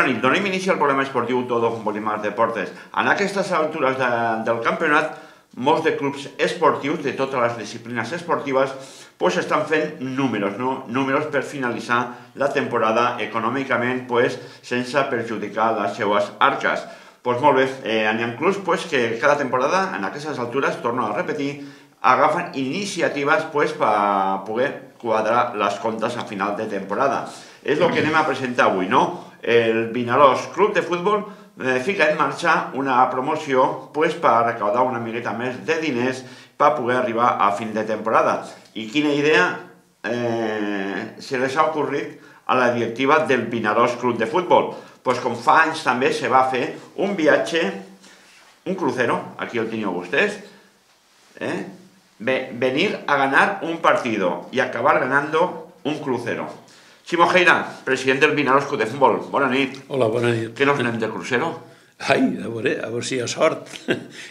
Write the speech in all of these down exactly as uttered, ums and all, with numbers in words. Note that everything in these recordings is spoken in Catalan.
nit, donem inici al programa esportiu Todo con Polimar Deportes. En aquestes altures de, del campionat, molts de clubs esportius de totes les disciplines esportives pues, estan fent números, no? números per finalitzar la temporada econòmicament pues, sense perjudicar les seues arques. Pues molt bé, eh, hi ha clubs pues, que cada temporada, en aquestes altures, torno a repetir, agafen iniciatives pues, per poder quadrar les comptes a final de temporada. És el que anem a presentar avui, no? El Vinaròs Club de Futbol eh, fica en marxa una promoció pues, per recaudar una miqueta més de diners per poder arribar a fin de temporada. I quina idea eh, se les ha ocorrit a la directiva del Vinaròs Club de Futbol? Pues com fa anys també se va fer un viatge, un crucero, aquí el teniu vostès, eh? venir a ganar un partido y acabar ganando un crucero. Ximo Geira, president del Vinaròs Club de Futbol, bona nit. Hola, bona nit. Què nos anem de crucero? Ai, a veure, a veure si hi ha sort.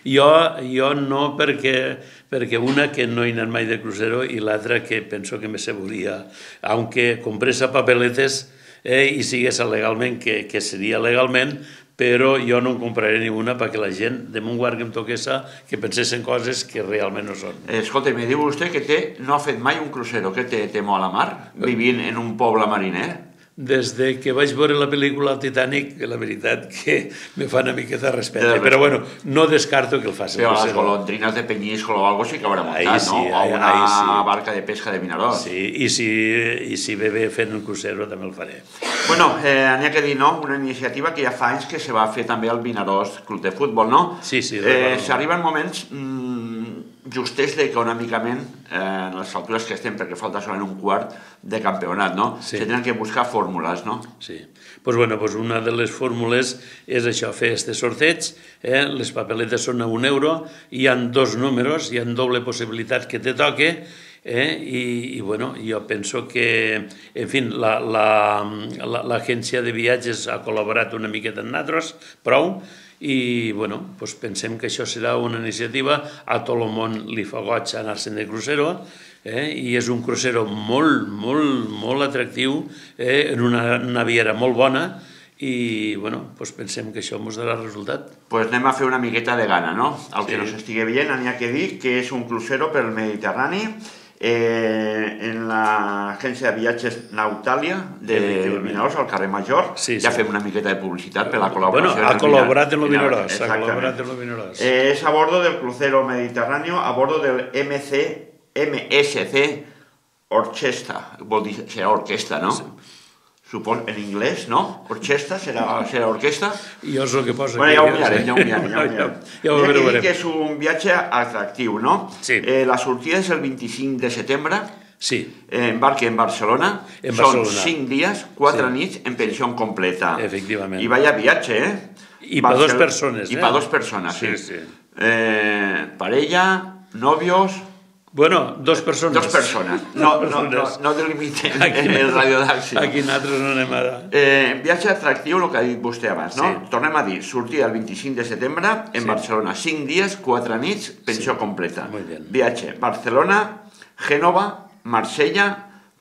Jo, jo no, perquè, perquè una que no he anat mai de crucero i l'altra que penso que me se volia, aunque compresa papeletes eh, i sigués legalment, que, que seria legalment, però jo no en compraré ni una perquè la gent de mon guard que em toquessa que pensessin coses que realment no són. Escolta, me diu vostè que té, no ha fet mai un crucero, que té temo a la mar, vivint en un poble mariner? Des de que vaig veure la pel·lícula Titanic, la veritat que me fa una miqueta de respecte, però bueno, no descarto que el faci. Però les golondrines de Peñíscola o algo sí que haurà muntat, no? O una barca de pesca de Vinaròs. Sí, i si ve bé fent un crucero també el faré. Bueno, n'hi ha que dir, no? Una iniciativa que ja fa anys que se va fer també al Vinaròs Club de Futbol, no? Sí, sí. S'arriben moments justets econòmicament en les altures que estem, perquè falta solament un quart de campionat, no? Se tenen que buscar fórmules, no? Sí. Doncs bueno, una de les fórmules és això, fer este sorteig, les papeletes són a un euro, hi ha dos números, hi ha doble possibilitat que te toque, i bueno, jo penso que, en fi, l'agència de viatges ha col·laborat una miqueta amb nosaltres, prou, i bueno, pensem que això serà una iniciativa, a tot el món li fa goig anar-se'n de crucero, i és un crucero molt, molt, molt atractiu, en una naviera molt bona, i bueno, pensem que això ens darà resultat. Doncs anem a fer una miqueta de gana, no? El que no s'estigui veient, n'hi ha que dir que és un crucero pel Mediterrani, en l'agència de viatges Nautàlia de Vinaròs, al carrer Major. Ja fem una miqueta de publicitat per la col·laboració. Bueno, ha col·laborat en el Vinaròs. Ha col·laborat en el Vinaròs. És a bordo del crucero mediterráneo, a bordo del M S C Orchestra, vol dir, serà orquestra, no? Suposo, en anglès, no? Orquestra, serà orquestra? Jo és el que posa. Bueno, ja ho mirarem, ja ho mirarem. Ja ho mirarem. Que és un viatge atractiu, no? Sí. La sortida és el vint-i-cinc de setembre. Sí. Embarque en Barcelona. Són cinc dies, quatre nits en pensió completa. Efectivament. I vaya viatge, eh? I per dos persones, eh? I per dos persones, sí. Parella, novios... Bueno, dos persones. Dos persones. No delimiten el radiotaxi. Aquí nosaltres no anem ara. Viatge atractiu, el que ha dit vostè abans, no? Tornem a dir, sortida el vint-i-cinc de setembre en Barcelona. Cinc dies, quatre nits, pensió completa. Viatge Barcelona, Gènova, Marsella,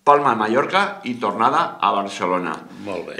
Palma de Mallorca i tornada a Barcelona. Molt bé.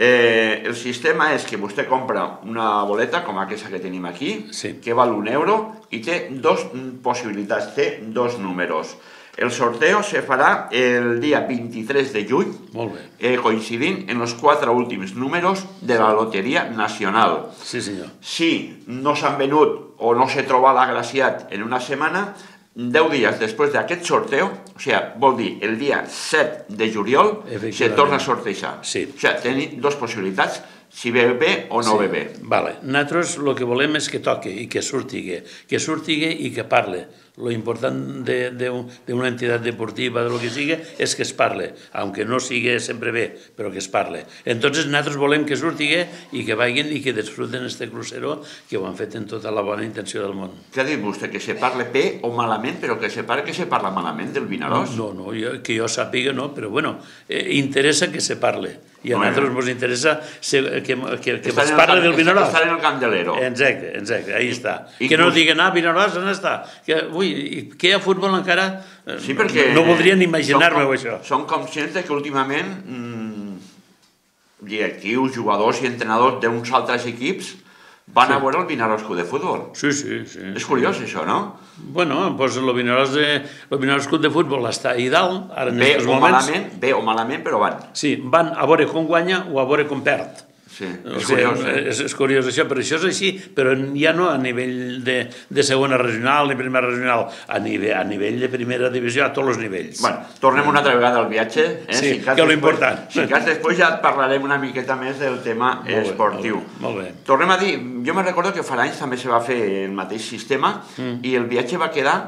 El sistema és que vostè compra una boleta, com aquesta que tenim aquí, Sí. que val un euro i té dos possibilitats, té dos números. El sorteo se farà el dia vint-i-tres de juny, Molt bé. coincidint en els quatre últims números de la Loteria Nacional. Sí, senyor. Si no s'han venut o no s'ha trobat l'agraciat en una setmana, deu dies després d'aquest sorteo, o sigui, vol dir el dia set de juliol, se torna a sortejar. O sigui, tenim dues possibilitats, si ve bé o no ve bé. Vale. Nosaltres el que volem és que toque i que surti, que surti i que parle. Lo important d'una entitat deportiva, de lo que sigui, és que es parle, aunque no sigui sempre bé, però que es parle. Entonces, nosaltres volem que surti i que vagin i que disfruten este crucero que ho han fet en tota la bona intenció del món. Què ha dit vostè? Que se parle bé o malament, però que se parle que se parla malament del Vinaròs? No, no, que jo sàpiga no, però bueno, interessa que se parle. I a nosaltres ens interessa que es parle del Vinaròs. Estar en el Candelero. Exacte, exacte, ahí està. Que no diguen, ah, Vinaròs, on està? Ui, que hi ha futbol encara... No voldrien imaginar-me això. Som conscients que últimament directius, jugadors i entrenadors d'uns altres equips van Sí. a veure el Vinaròs Club de Futbol. Sí, sí, sí. És curiós, això, no? Bueno, doncs el Vinaròs, de, el Vinaròs Club de Futbol està ahí dalt, ara en Bé aquests o moments. malament, bé o malament, però van. Sí, van a veure com guanya o a veure com perd. Sí, O és sigui, curiós, eh? és, és curiós això, però això és així, però ja no a nivell de, de segona regional ni primera regional, a nivell, a nivell de primera divisió, a tots els nivells. Bueno, tornem una altra vegada al viatge. Eh? Sí, si cas que és després, l'important. Si cas després ja et parlarem una miqueta més del tema Molt bé, esportiu. Molt bé, molt bé. Tornem a dir, jo me recordo que fa anys també se va fer el mateix sistema mm. i el viatge va quedar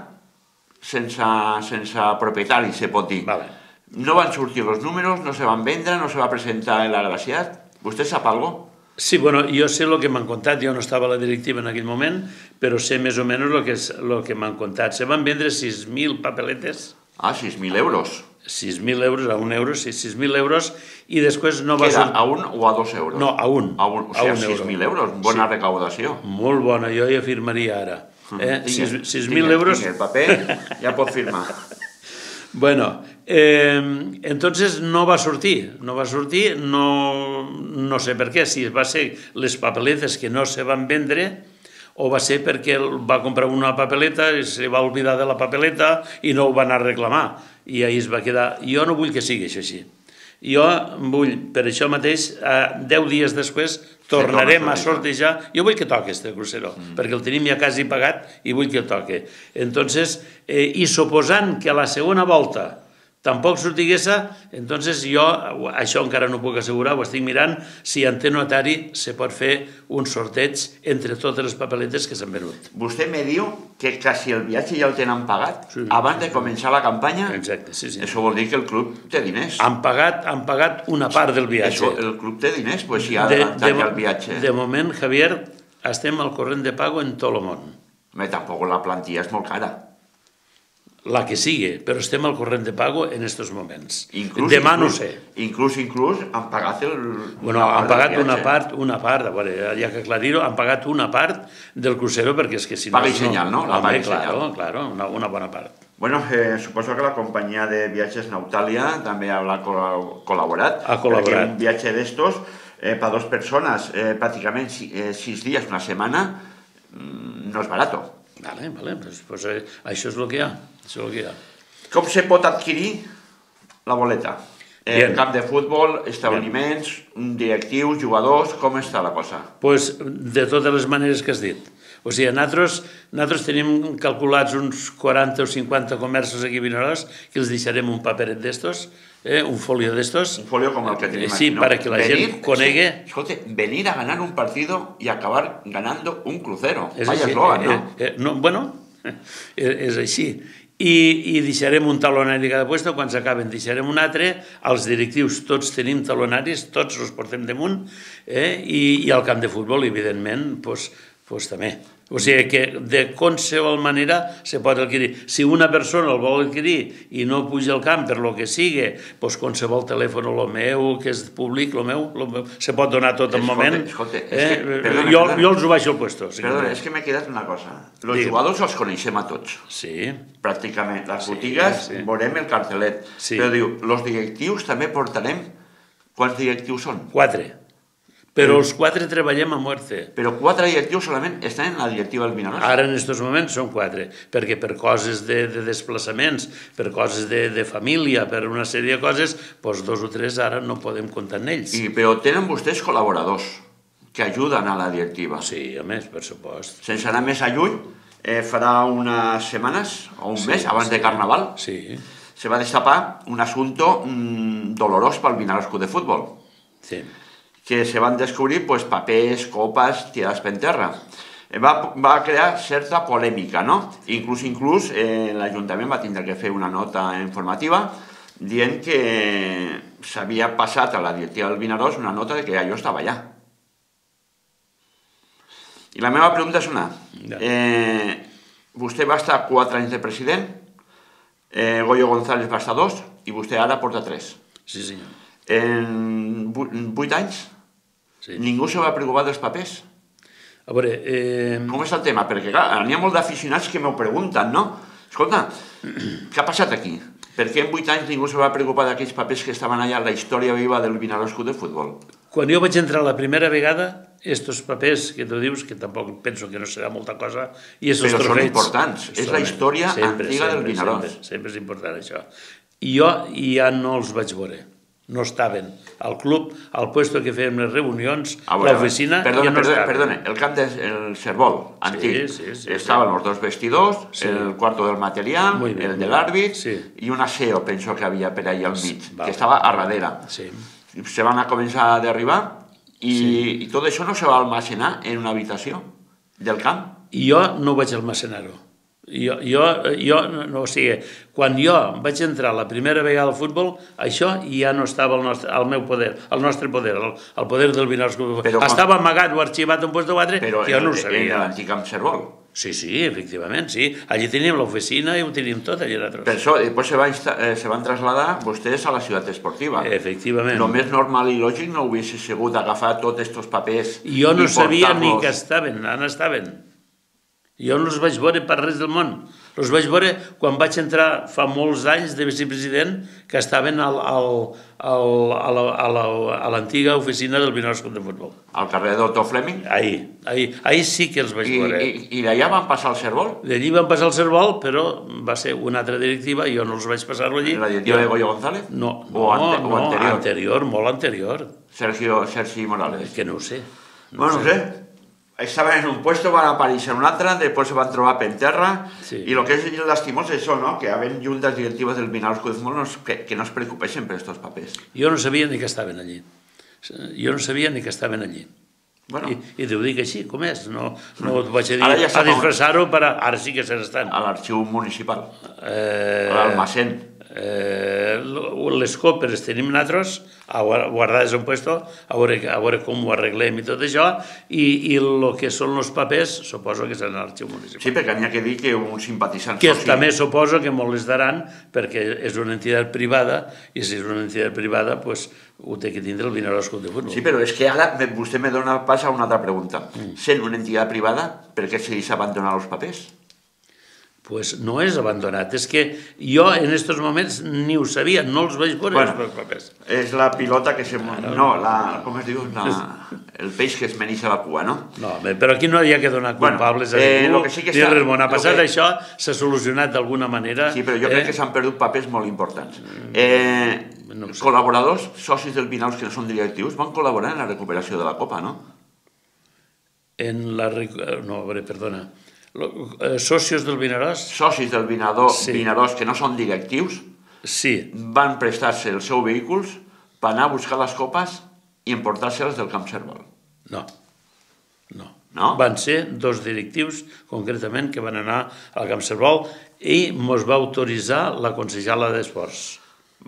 sense, sense propietari, se pot dir. Vale. No van sortir els números, no se van vendre, no se va presentar l'agraciat. Vostè sap alguna cosa? Sí, bueno, jo sé el que m'han contat, jo no estava a la directiva en aquell moment, però sé més o menys el que, és, el que m'han contat. Se van vendre sis mil papeletes. Ah, sis mil euros. sis mil euros, a un euro, sí, sis mil euros, i després no va... Queda a un o a dos euros? No, a un. A un, o sigui, sis mil euros, bona sí. recaudació. Molt bona, jo hi afirmaria ara. Eh? sis mil euros... Tinc el paper, ja pot firmar. Bueno, eh, entonces no va sortir, no va sortir, no, no sé per què, si va ser les papeletes que no se van vendre o va ser perquè va comprar una papeleta i se va oblidar de la papeleta i no ho va anar a reclamar i ahir es va quedar. Jo no vull que sigui això així. Jo vull, per això mateix, deu dies després tornarem a sortejar. Jo vull que toqui este crucero, mm. perquè el tenim ja quasi pagat i vull que el toqui. Entonces, eh, i suposant que a la segona volta tampoc sortiguessa, entonces jo, això encara no puc assegurar, ho estic mirant, si en té notari se pot fer un sorteig entre totes les papeletes que s'han venut. Vostè me diu que quasi el viatge ja el tenen pagat sí, abans de començar la campanya? Exacte, sí, sí. Això vol dir que el club té diners. Han pagat, han pagat una part del viatge. Això, el club té diners, doncs si ha adelantat ja el viatge. De moment, Javier, estem al corrent de pago en tot el món. Bé, tampoc la plantilla és molt cara. La que sigui, però estem al corrent de pago en aquests moments. Inclús, Demà inclús, no sé. Inclús, inclús, han pagat el... Bueno, han pagat una part, una part, a veure, ja que aclarir-ho, han pagat una part del crucero perquè és que si no... Paga i senyal, no? La paga i senyal. Claro, claro, una, una bona part. Bueno, eh, suposo que la companyia de viatges Nautalia també haurà col·laborat. Ha col·laborat. Perquè un viatge d'estos, eh, per dues persones, eh, pràcticament eh, sis dies, una setmana, no és barato. Vale, vale, pues, pues eh, això és el que hi ha, això és el que hi ha. Com se pot adquirir la boleta? Eh, Bien. Camp de futbol, establiments, Bien. directius, jugadors, com està la cosa? Pues de totes les maneres que has dit. O sigui, nosaltres, nosaltres tenim calculats uns quaranta o cinquanta comerços aquí a Vinaròs que els deixarem un paperet d'estos, eh, un folio d'estos. Un folio com el que tenim sí, aquí, ¿no? para que la venir, gent conegui... Sí, escolta, venir a ganar un partido y acabar ganando un crucero. És Vaya així, eslogan, no? Eh, eh, no? Bueno, és així. I, i deixarem un talonari cada puesto, quan s'acaben deixarem un altre, els directius tots tenim talonaris, tots els portem damunt, eh, i, i al camp de futbol, evidentment, doncs, pues també. O sigui que de qualsevol manera se pot adquirir. Si una persona el vol adquirir i no puja al camp per lo que sigui, doncs qualsevol telèfon, el meu, que és públic, el meu, lo meu se pot donar tot el moment. Escolta, eh? és que, perdona, jo, perdona. jo els ho baixo al puesto. Si Perdona, és que m'he quedat una cosa. Els Digue'm. jugadors els coneixem a tots. Sí. Pràcticament. Les Sí, botigues sí. veurem el cartelet. Sí. Però diu, els directius també portarem... Quants directius són? Quatre. Però els quatre treballem a muerte. Però quatre directius solament estan en la directiva del Vinaròs. Ara, en aquests moments, són quatre, perquè per coses de, de desplaçaments, per coses de, de família, per una sèrie de coses, doncs dos o tres ara no podem comptar en ells. I, però tenen vostès col·laboradors que ajuden a la directiva. Sí, a més, per supost. Sense anar més a lluny, eh, farà unes setmanes o un Sí, mes abans sí. de Carnaval, Sí, se va destapar un assumpte mmm, dolorós pel Vinaròs Club de Futbol, sí. que se van descobrir pues, papers, copes tirades per terra. Eh, Va, va crear certa polèmica, no? Inclús, inclús eh, l'Ajuntament va tindre que fer una nota informativa dient que s'havia passat a la directiva del Vinaròs una nota de que allò estava allà. I la meva pregunta és una. Eh, vostè va estar quatre anys de president, eh, Goyo González va estar dos, i vostè ara porta tres. Sí, senyor. En vuit anys, Sí. ningú se va preocupar dels papers. A veure... Eh... Com és el tema? Perquè, clar, n'hi ha molts d'aficionats que m'ho pregunten, no? Escolta, què ha passat aquí? Per què en vuit anys ningú se va preocupar d'aquells papers que estaven allà a la història viva del Vinaròs Club de Futbol? Quan jo vaig entrar la primera vegada, estos papers que tu dius, que tampoc penso que no serà molta cosa, i estos Però són trofeis... importants, és la història antiga del Vinaròs. Sempre és important això. I jo ja no els vaig veure. No estaven al club, al puesto que fèiem les reunions, l'oficina, ja no estaven. Perdona, el camp del Servol, antic, estaven els dos vestidors, el cuarto del material, el de l'àrbit i un aseo, penso que havia per allà al mig, que estava a darrere. Se van a començar a derribar i tot això no se va almacenar en una habitació del camp. I jo no vaig almacenar-ho. Jo, jo, jo, no, o sigui, quan jo vaig entrar la primera vegada al futbol, això ja no estava al, nostre, al meu poder, al nostre poder, al, al poder del Vinaròs. Estava amagat o arxivat en puesto quatre, que jo no ho sabia. Però en l'antic camp Servol. Sí, sí, efectivament, sí. Allí teníem l'oficina i ho teníem tot, allà nosaltres. Per això, després se, va eh, se van traslladar vostès a la ciutat esportiva. Efectivament. Lo més normal i lògic no hubiese sigut agafar tots aquests papers i jo no sabia ni que estaven, on estaven. Jo no els vaig veure per res del món. Els vaig veure quan vaig entrar fa molts anys de vicepresident, que estaven al, al, al, a l'antiga oficina del Vinaròs Club de Futbol. Al carrer d'Otto Fleming? Ahí, ahí, ahí sí que els vaig veure. I, i, i d'allà van passar al Servol? D'allí van passar al Servol, però va ser una altra directiva, jo no els vaig passar-lo allí. La directiva de Goyo González? No, o no, ante, o no anterior? anterior, molt anterior. Sergio, Sergi Morales? Que no ho sé. No bueno, no sé. sé. Estaven en un puesto, van aparèixer en un altre, després se van trobar per terra, sí. I el que és lastimós és això, no? Que havent juntes directives del Vinaròs Club de Futbol no, que, que no es preocupessin per aquests papers. Jo no sabia ni que estaven allí. Jo no sabia ni que estaven allí. Bueno. I, I t'ho dic així, com és? No, no et vaig a dir ja a disfressar-ho, per a... ara sí que se n'estan. A l'arxiu municipal, eh... a l'almacén. Eh, les copes tenim nosaltres guardades en puesto, a veure, a veure com ho arreglem i tot això, i, i el que són els papers suposo que seran a l'arxiu municipal. Sí, perquè n'hi ha que dir que un simpatitzant que també suposo que molestaran perquè és una entitat privada i si és una entitat privada pues, ho té que tindre el Vinaròs Club de Futbol. Sí, però és que ara vostè me dona pas a una altra pregunta. Mm. Sent una entitat privada, per què se li s'abandonen els papers? Pues no és abandonat, és que jo en aquests moments ni ho sabia, no els vaig veure bueno, els papers. És la pilota que se... Claro. No, la... com es diu? La... El peix que es menixa la cua, no? No, però aquí no hi ha que donar culpables bueno, eh, a ningú, sí que ni res bon. Ha passat que... això, s'ha solucionat d'alguna manera. Sí, però jo eh? crec que s'han perdut papers molt importants. Eh, no sé. Col·laboradors, socis del Vinaròs que no són directius, van col·laborar en la recuperació de la Copa, no? En la... No, a veure, perdona... Socios del Vinaròs? Socis del Vinaròs, sí. Vinaròs que no són directius, sí. Van prestar-se els seus vehicles per anar a buscar les copes i emportar-se-les del Camp Servol. No. no, no. Van ser dos directius, concretament, que van anar al Camp Servol i mos va autoritzar la consellera d'Esports.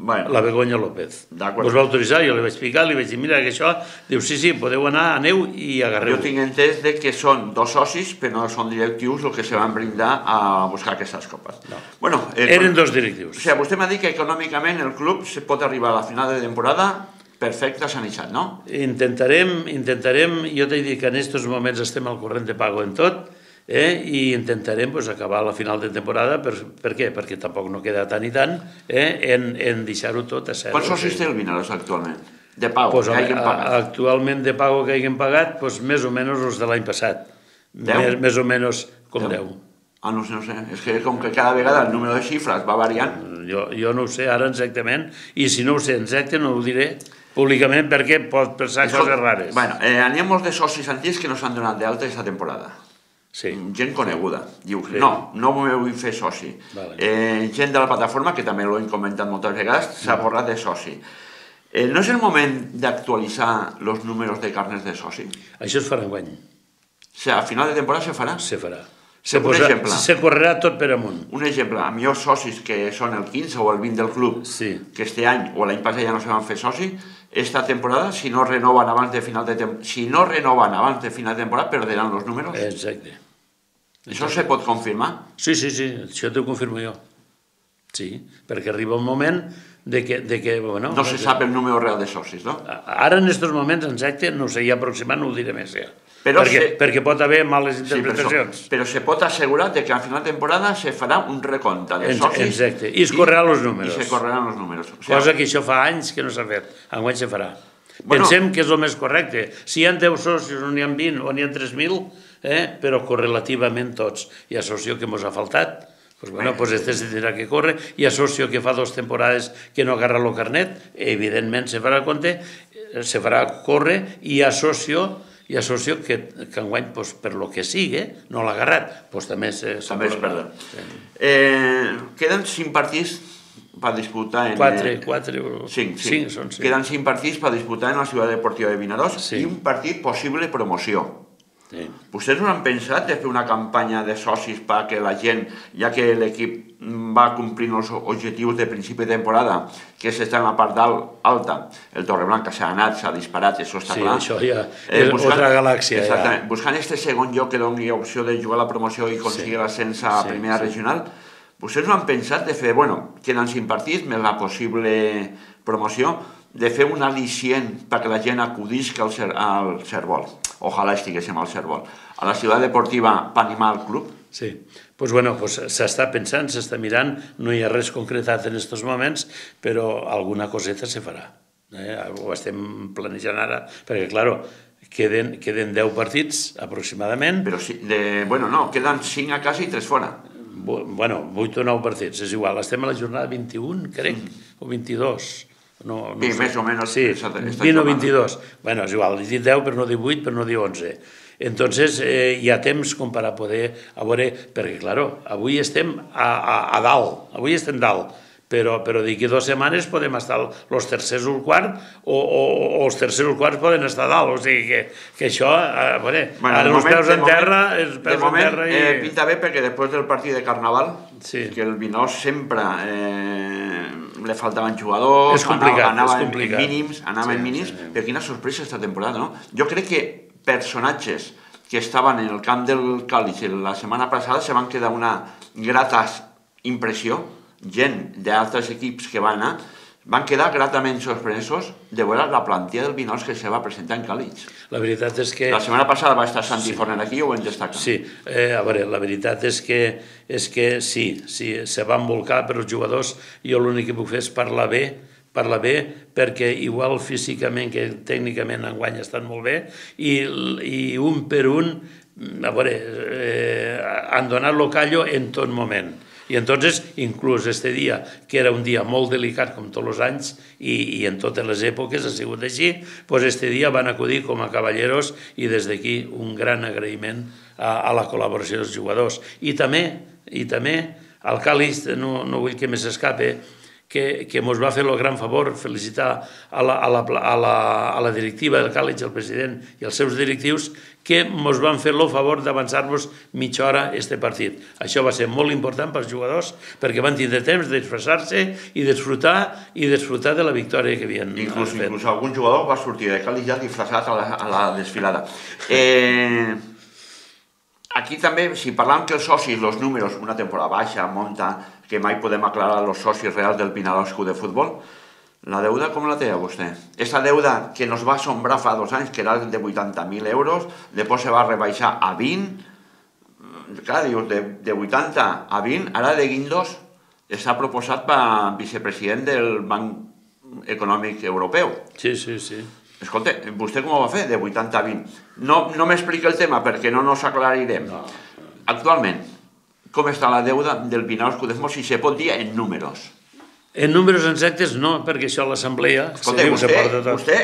Bueno, la Begoña López. Us va autoritzar, jo li vaig explicar, li vaig dir, mira, que això, diu, sí, sí, podeu anar, aneu i agarreu. Jo tinc entès que són dos socis, però no són directius els que se van brindar a buscar aquestes copes. No. Bueno, eh, eren dos directius. O sigui, vostè m'ha dit que econòmicament el club se pot arribar a la final de temporada perfecte, sanitzat, no? Intentarem, intentarem, jo t'he dit que en aquests moments estem al corrent de pago en tot, Eh, i intentarem pues, acabar la final de temporada, per, per què? Perquè tampoc no queda tant i tant, eh, en, en deixar-ho tot a zero. Quants socis té el Vinaròs actualment? De pago, pues, que hagin pagat? Actualment de pago que hagin pagat, pues, més o menys els de l'any passat. Més, més o menys com deu. Ah, no sé, no sé. És que com que cada vegada el número de xifres va variant. Jo, jo no ho sé ara exactament, i si no ho sé exacte no ho diré públicament perquè pot pensar Escol... coses rares. Bueno, eh, n'hi ha molts de socis antics que no s'han donat d'alta aquesta temporada. Sí. Gent coneguda, diu, sí. no, no m'ho vull fer soci. Vale. Eh, gent de la plataforma, que també l'ho hem comentat moltes vegades, s'ha mm. borrat de soci. Eh, no és el moment d'actualitzar els números de carnets de soci? Això es farà enguany. O sigui, a final de temporada se farà? Se farà. Se, posa, se correrà tot per amunt. Un exemple, a millors socis que són el quinze o el vint del club, sí. que este any o l'any passat ja no se van fer soci, esta temporada, si no renoven abans de final de temporada, si no renoven abans de final de temporada, perderan els números. Exacte. Això se pot confirmar? Sí, sí, sí, això t'ho confirmo jo. Sí, perquè arriba un moment de que... De que bueno, no se sap el número real de socis, no? Ara, en aquests moments, exacte, no sé, ja aproximant no ho diré més, ja. Però perquè, se... perquè pot haver males interpretacions. Sí, però, però se pot assegurar que a final de temporada se farà un recompte de socis... Exacte, i es correran els números. I se correran els números. O sigui, cosa que això fa anys que no s'ha fet, enguany se farà. Pensem que és el més correcte. Si hi ha deu socis o n'hi ha vint o n'hi ha tres mil, però correlativament tots. Hi ha soci que ens ha faltat, pues bueno, pues este se tindrà que córrer. Hi ha soci que fa dues temporades que no agarra el carnet, evidentment se farà compte, se farà córrer, i hi ha soci hi ha soci que enguany, per lo que sigui, no l'ha agarrat, doncs també s'ha perdut. Queden cinc partits per disputar... Quatre, quatre... Cinc, cinc. Queden cinc partits per disputar en la Ciutat Deportiva de Vinaròs i un partit possible promoció. Vostès no han pensat de fer una campanya de socis perquè la gent, ja que l'equip va complint els objectius de principi de temporada, que és estar en la part alta, el Torreblanca s'ha anat, s'ha disparat, això està clar. Sí, això ja és altra galàxia. Exactament. Buscant este segon lloc que doni opció de jugar a la promoció i aconseguir l'ascens a primera regional, vostès no han pensat de fer, bueno, queden cinc partits, més la possible promoció, de fer un al·licient perquè la gent acudisca al Cervol. Ojalà estiguéssim al Cervol. A la Ciutat Deportiva per animar el club. Sí, doncs bueno, s'està pensant, s'està mirant, no hi ha res concretat en aquests moments, però alguna coseta se farà. Ho estem planejant ara, perquè, clar, queden deu partits aproximadament. Però, bueno, no, queden cinc a casa i tres fora. Bueno, vuit o nou partits, és igual. Estem a la jornada vint-i-un, crec, o vint-i-dos. Sí, més o menys. Sí, vint o vint-i-dos. Bueno, és igual, he dit deu per no dir vuit, per no dir onze. Entonces, hi ha temps com per a poder, a veure, perquè, clar, avui estem a dalt, avui estem dalt, però d'aquí dues setmanes podem estar els tercers o el quart, o els tercers o el quart poden estar a dalt, o sigui que això, a veure, ara els peus en terra, els peus en terra i... De moment pinta bé perquè després del partit de Carnaval, que el Vinós sempre li faltaven jugadors, anaven mínims, anaven mínims, però quina sorpresa esta temporada, no? Jo crec que personatges que estaven en el camp del Càlig la setmana passada se van quedar una grata impressió, gent d'altres equips que van anar, van quedar gratament sorpresos de veure la plantilla del Vinós que se va presentar en Càlig. La veritat és que... La setmana passada va estar Santi Forner aquí, ho hem destacat. Sí, a veure, la veritat és que sí, se van volcar per els jugadors, jo l'únic que puc fer és parlar bé, parlar bé, perquè igual físicament que tècnicament enguany estan molt bé, i un per un, a veure, han donat lo callo en tot moment. I entonces, inclús este dia, que era un dia molt delicat com tots els anys i en totes les èpoques ha sigut així, doncs este dia van acudir com a cavalleros i des d'aquí un gran agraïment a la col·laboració dels jugadors. I també, i també, al Càlig, no vull que m'escape, que ens va fer el gran favor felicitar a la directiva del Càlig, el president i els seus directius, que ens van fer el favor d'avançar-nos mitja hora este partit. Això va ser molt important pels jugadors perquè van tindre temps d'expressar-se i disfrutar i disfrutar de la victòria que havien fet. Inclús algun jugador va sortir de Càlig ja disfressat a la desfilada. Aquí també, si parlàvem que els socis, els números, una temporada baixa, monta, que mai podem aclarar els socis reals del Vinaròs Club de Futbol, la deuda com la té vostè? Aquesta deuda que nos va assombrar fa dos anys, que era de vuitanta mil euros, després se va rebaixar a vint, clar, dius, de vuitanta a vint, ara de Guindos està proposat per vicepresident del Banc Econòmic Europeu. Sí, sí, sí. Escolta, vostè com ho va fer, de vuitanta a vint? No m'explica el tema perquè no nos aclarirem. Actualment, com està la deuda del Vinaròs Club de Futbol, si se pot dir en números? En números exactes no, perquè això a l'assemblea... Escolta, vostè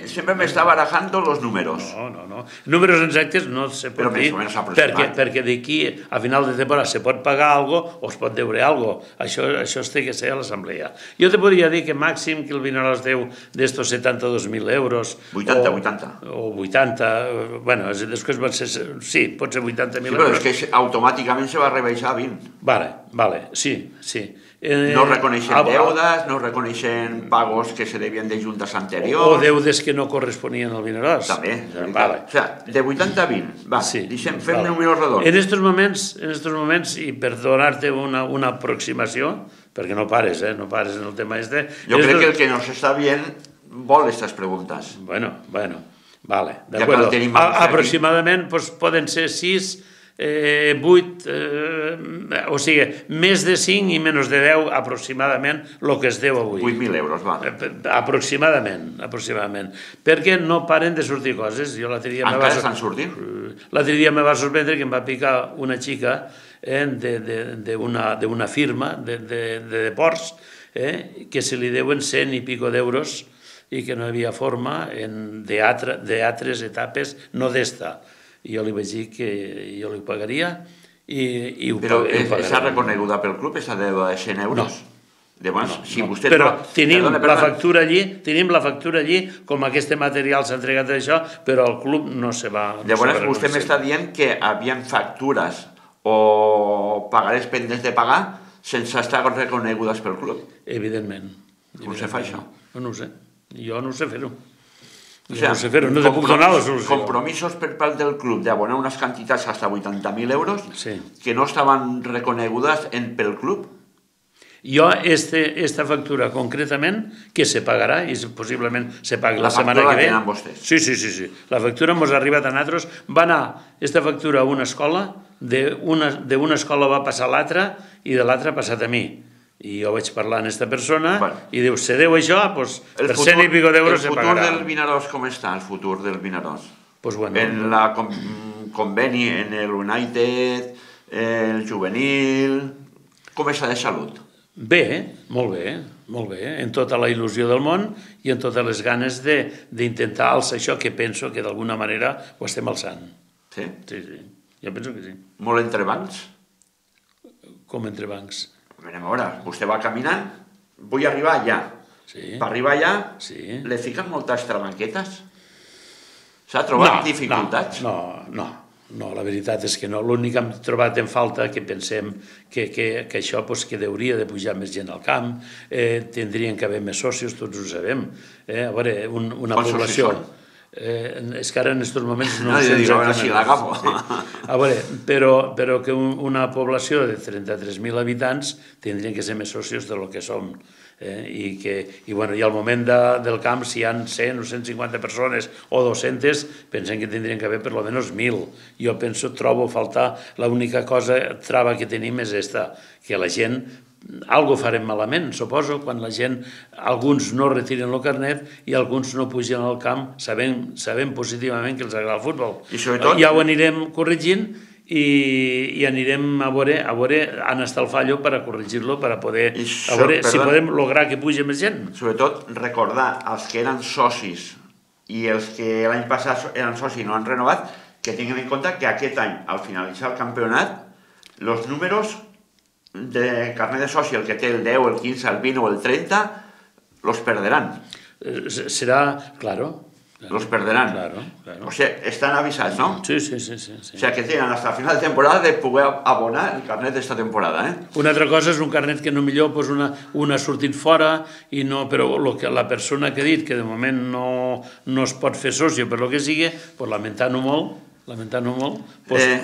sempre m'està barajant els números. No, no, no. Números exactes no se pot dir, perquè d'aquí a final de temporada se pot pagar alguna cosa o es pot deure alguna cosa. Això es té que ser a l'assemblea. Jo te podria dir que màxim que el Vinaròs deu d'estos setanta-dos mil euros... vuitanta, vuitanta. O vuitanta, bueno, després van ser... Sí, pot ser vuitanta mil euros. Sí, però és que automàticament se va rebaixar a vint. Vale, vale, sí, sí. No reconeixen deudes, no reconeixen pagos que se devien de juntes anteriors... O deudes que no corresponien al Vinaròs. També. O sigui, de vuitanta a vint. Va, fem números redons. En aquests moments, en aquests moments, i per donar-te una aproximació, perquè no pares, eh, no pares en el tema este... Jo crec que el que nos està bien vol aquestes preguntes. Bueno, bueno, vale, d'acord. Aproximadament poden ser sis... vuit, o sigui, més de cinc i menys de deu aproximadament el que es deu avui. vuit mil euros, va. Aproximadament, aproximadament. Perquè no paren de sortir coses. Encara estan sortint? L'altre dia me va sorprendre que em va picar una xica d'una firma de deports que se li deuen cent i pico d'euros i que no hi havia forma d'altres etapes, no d'esta. I jo li vaig dir que jo li pagaria i ho pagaria. Però està reconeguda pel club, aquesta de cent euros? No. Però tenim la factura allí, tenim la factura allí, com aquest material s'ha entregat d'això, però el club no se va... Llavors vostè m'està dient que hi havia factures o pagarés pendents de pagar sense estar reconegudes pel club? Evidentment. Com se fa això? No ho sé. Jo no ho sé fer-ho. O sigui, no te puc donar la solució. Compromisos per part del club d'abonar unes quantitats fins a vuitanta mil euros que no estaven reconegudes pel club? Jo, aquesta factura concretament, que se pagarà i possiblement se pagui la setmana que ve... La factura la tenen vostès? Sí, sí, sí. La factura ens ha arribat a nosaltres. Va anar aquesta factura a una escola, d'una escola va passar a l'altra i de l'altra ha passat a mi. I jo vaig parlar amb aquesta persona i diu, se deu això, doncs per cent i pico d'euros se pagarà. El futur del Vinaròs com està, el futur del Vinaròs? Doncs bueno... En la conveni, en el United, el juvenil... Com està de salut? Bé, molt bé, molt bé, en tota la il·lusió del món i en totes les ganes d'intentar alçar això que penso que d'alguna manera ho estem alçant. Sí? Sí, sí, jo penso que sí. Molt entrebancs? Com entrebancs? A veure, vostè va caminant, vull arribar allà. Per arribar allà, li fiquen moltes trabanquetes? S'ha trobat dificultats? No, no, no, la veritat és que no. L'únic que hem trobat en falta, que pensem que això que hauria de pujar més gent al camp, tindrien que haver més socis, tots ho sabem. A veure, una població... És que ara en aquests moments no sé exactament. A veure, però que una població de trenta-tres mil habitants tindrien que ser més socis del que som. I al moment del camp, si hi ha cent o cent cinquanta persones o dues-centes, pensem que tindrien que haver per almenys mil. Jo penso, trobo a faltar, l'única cosa, trava que tenim és aquesta, que la gent... Algo farem malament, suposo, quan la gent, alguns no retiren el carnet i alguns no pugen al camp sabent positivament que els agrada el futbol. Ja ho anirem corregint i anirem a veure on està el fallo per a corregir-lo, per a poder, a veure si podem lograr que pugi més gent. Sobretot recordar als que eren socis i els que l'any passat eren socis i no han renovat, que tinguin en compte que aquest any, al finalitzar el campionat, els números de carnet de soci, el que té el deu, el quinze, el vint o el trenta, los perderan. Serà, claro. Los perderan. O sigui, estan avisats, no? Sí, sí, sí. O sigui, que tenen fins al final de temporada de poder abonar el carnet d'esta temporada, eh? Una altra cosa és un carnet que no millor un ha sortit fora, però la persona que ha dit que de moment no es pot fer soci per el que sigui, lamentant-ho molt, lamentant-ho molt,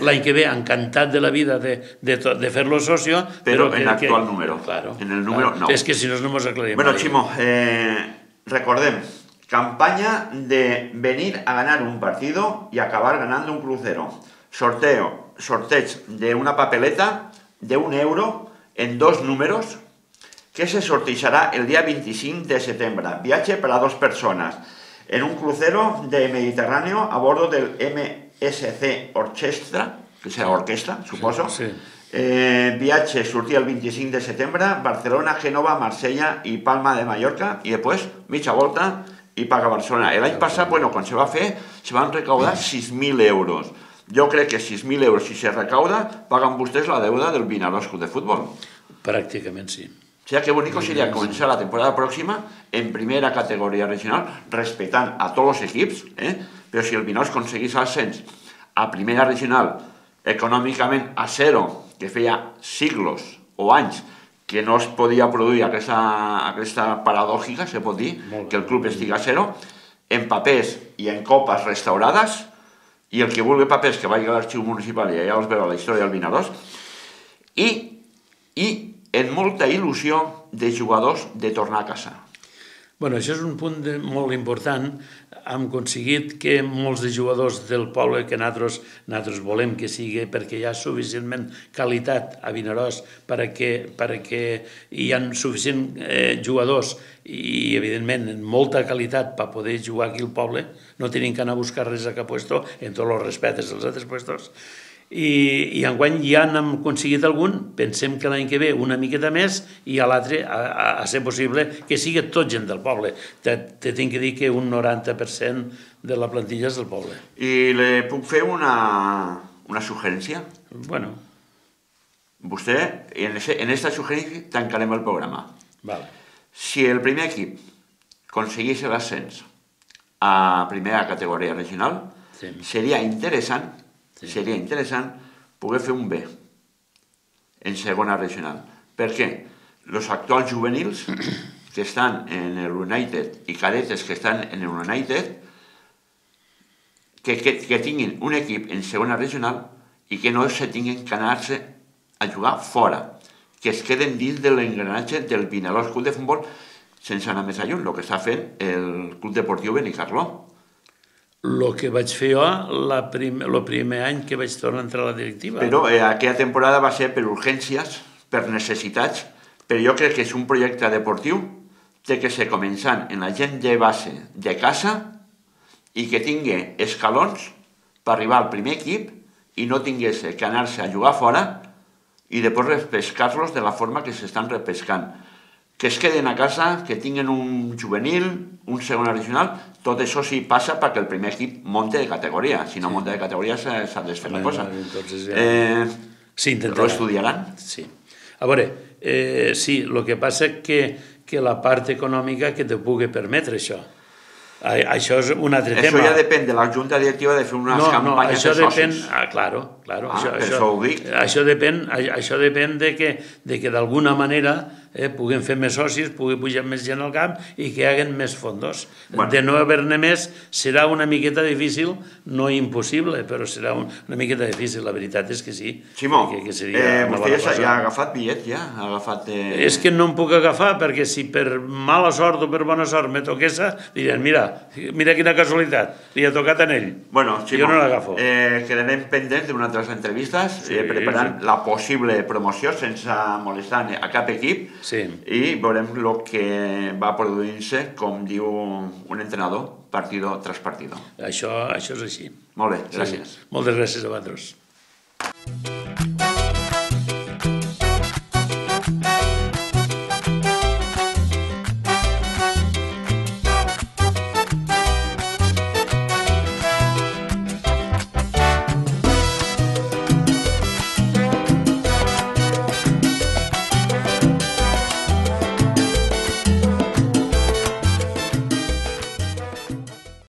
l'any que ve encantat de la vida de fer-lo socio, però en l'actual número, en el número nou. És que si no no ens aclarim. Bueno, Ximo, recordem, campaña de venir a ganar un partido y acabar ganando un crucero. Sorteo, sorteig de una papeleta de un euro en dos números que se sortejará el día veinticinc de setembre. Viaje para dos personas en un crucero de Mediterráneo a bordo del M S C Orchestra, que serà orquestra, suposo. Viatge sortia el vint-i-cinc de setembre, Barcelona, Gènova, Marsella i Palma de Mallorca, i després mitja volta i paga Barcelona. L'any passat, bueno, quan se va fer, se van recaudar sis mil euros. Jo crec que sis mil euros, si se recauda, paguen vostès la deuda del Vinaròs Club de Futbol. Pràcticament sí. O sigui, que bonico seria començar la temporada pròxima en primera categoria regional, respectant a tots els equips, però si el Vinaròs aconseguís ascens a primera regional econòmicament a zero, que feia siglos o anys que no es podia produir aquesta paradògica, se pot dir, que el club estigui a zero, en papers i en copes restaurades, i el que vulgui papers que vagi a l'arxiu municipal i allà us veu la història del Vinaròs, i en molta il·lusió de jugadors de tornar a casa. Bueno, això és un punt molt important. Hem aconseguit que molts de jugadors del poble que nosaltres, nosaltres volem que sigui, perquè hi ha suficientment qualitat a Vinaròs perquè, perquè hi ha suficient eh, jugadors i, evidentment, molta qualitat per poder jugar aquí al poble. No tenim que anar a buscar res a cap puesto, en tots els respectes dels altres puestos. I, i enguany ja n'hem aconseguit algun, pensem que l'any que ve una miqueta més i a l'altre, a, a, a ser possible, que sigui tot gent del poble. Te, te tinc que dir que un noranta per cent de la plantilla és del poble. I le puc fer una, una suggerència? Bueno. Vostè, en, ese, en esta sugerencia tancarem el programa. Vale. Si el primer equip aconseguís l'ascens a primera categoria regional, sí. seria interessant Sí. seria interessant poder fer un B en segona regional. Per què? Els actuals juvenils que estan en el United i cadetes que estan en el United que, que, que tinguin un equip en segona regional i que no se tinguin que anar-se a jugar fora, que es queden dins de l'engranatge del Vinaròs Club de Futbol sense anar més lluny, el que està fent el Club Deportiu Benicarló. El que vaig fer jo el prim, primer any que vaig tornar a entrar a la directiva. Però eh, aquella temporada va ser per urgències, per necessitats, però jo crec que és un projecte deportiu té que ser començant en la gent de base de casa i que tingui escalons per arribar al primer equip i no tingués que anar-se a jugar fora i després repescar-los de la forma que s'estan repescant. Que es queden a casa, que tinguin un juvenil, un segona regional, tot això sí passa perquè el primer equip monte de categoria. Si no sí. monta de categoria s'ha de fer la cosa. Entonces, ja... eh, sí, lo estudiaran? Sí. A veure, eh, sí, el que passa és que, que la part econòmica que te pugui permetre això. Això és un altre això tema. Això ja depèn de la junta directiva de fer unes no, campanyes no, de socis. Depèn, ah, claro, claro. Ah, això, per això, això ho dic. Això depèn, això depèn de que, de que d'alguna manera eh, puguem fer més socis, pugui pujar més gent al camp i que hi hagin més fondos. Bueno. De no haver-ne més serà una miqueta difícil, no impossible, però serà un, una miqueta difícil, la veritat és que sí. Simó, que, que eh, vostè ja ha agafat bitllet, ja? Ha agafat, eh... És que no em puc agafar, perquè si per mala sort o per bona sort me toquessa, diran, mira, mira quina casualitat, li ha tocat a ell. Bueno, Simó, jo no l'agafo. Eh, quedarem pendents d'unes altres entrevistes, sí, eh, preparant sí. la possible promoció sense molestar a cap equip sí. i veurem el que va produint-se, com diu un entrenador, partido tras partido. Això, això és així. Molt bé, gràcies. Sí. Moltes gràcies a vosaltres.